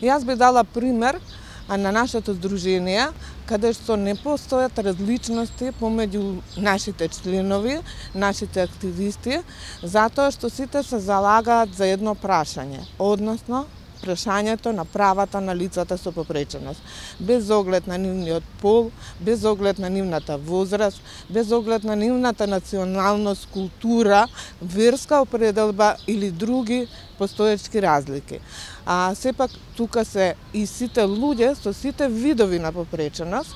Јас би дала пример на нашето здружение, каде што не постојат различности помеѓу нашите членови, нашите активисти, затоа што сите се залагаат за едно прашање, односно прашањето на правата на лицата со попреченост, без оглед на нивниот пол, без оглед на нивната возраст, без оглед на нивната националност, култура, верска определба или други постоечки разлики. А сепак тука се и сите луѓе со сите видови на попреченост,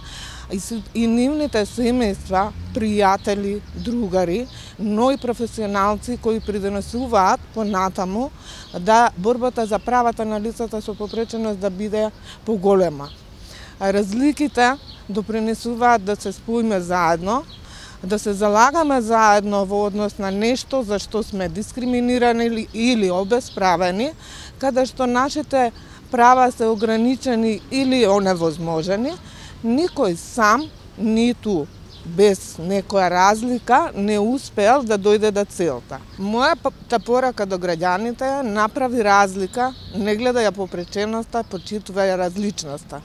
и нивните семејства, пријатели, другари, но и професионалци кои придонесуваат понатаму да борбата за правата на лицата со попреченост да биде поголема. Разликите допринесуваат да се споиме заедно, да се залагаме заедно во однос на нешто за што сме дискриминирани или обесправени, каде што нашите права се ограничени или оневозможени. Никој сам, ниту без некоја разлика, не успеал да дојде до целта. Мојата порака до граѓаните е: направи разлика, не гледај ја попреченоста, почитувај различноста.